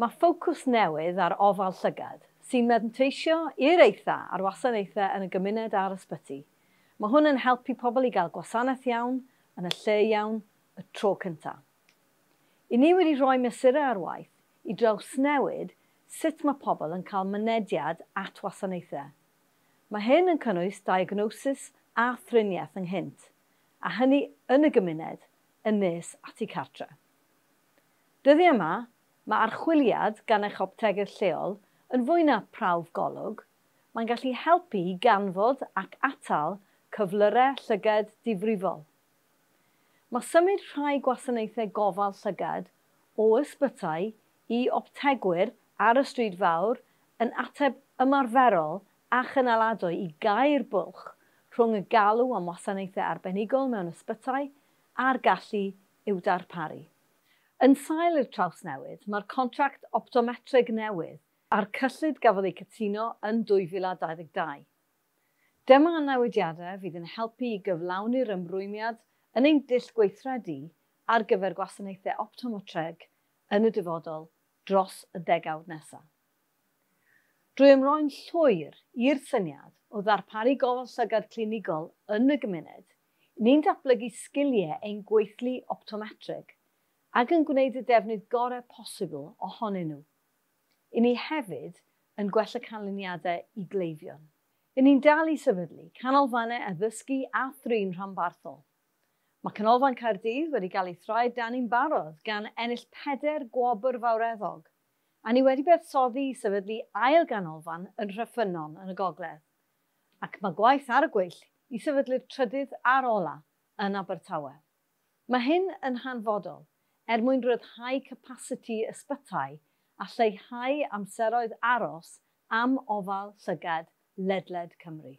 Mae ffocws newydd ar ofal llygad, sy'n manteisio i'r eitha ar wasanaethau yn y gymuned a'r ysbyty. Mae hwn yn helpu pobl i gael gwasanaeth iawn, yn y lle iawn, y tro cyntaf. I ni wedi rhoi mesurau ar waith i drawsnewid sut mae pobl yn cael mynediad at wasanaethau. Mae hyn yn cynnwys diagnosis a thriniaeth ynghynt, a hynny yn y gymuned yn nes at eu cartre. Dyddiau yma, mae archwiliad gan eich optegydd lleol yn fwy na prawf golwg, mae'n gallu helpu i ganfod ac atal cyflyrau llygad difrifol. Mae symud rhai gwasanaethau gofal llygad o ysbytai i optegwyr ar y stryd fawr yn ateb ymarferol a chynaladwy i gau'r bwlch rhwng y galw am wasanaethau arbenigol mewn ysbytai a'r gallu i'w darparu. Yn sail i'r trawsnewid, mae'r contract optometreg newydd a'r cyllid gafodd ei cytuno yn 2022. Dyma newidiadau fydd yn helpu i gyflawni'r ymrwymiad yn ein dull gweithredu ar gyfer gwasanaethau optometreg yn y dyfodol dros y degawd nesaf. Drwy ymroi'n llwyr i'r syniad o ddarparu gofal llygad clinigol yn y gymuned, ni'n datblygu sgiliau ein gweithlu optometrig ac yn gwneud y defnydd gorau posibl ohonyn nhw. I ni hefyd yn gwella canlyniadau i gleifion. I ni'n dal i sefydlu canolfannau addysgu a thrin rhanbarthol. Mae Canolfan Caerdydd wedi cael ei thraed dan i'n barod gan ennill 4 gwobr fawreddog, a ni wedi buddsoddi i sefydlu ail ganolfan yn Rheffynon yn y gogledd. Ac mae gwaith ar y gweill i sefydlu'r trydydd a'r ola yn Abertawe. Mae hyn yn hanfodol er mwyn rhyddhau capasiti ysbytai a lleihau amseroedd aros am ofal llygad ledled Cymru.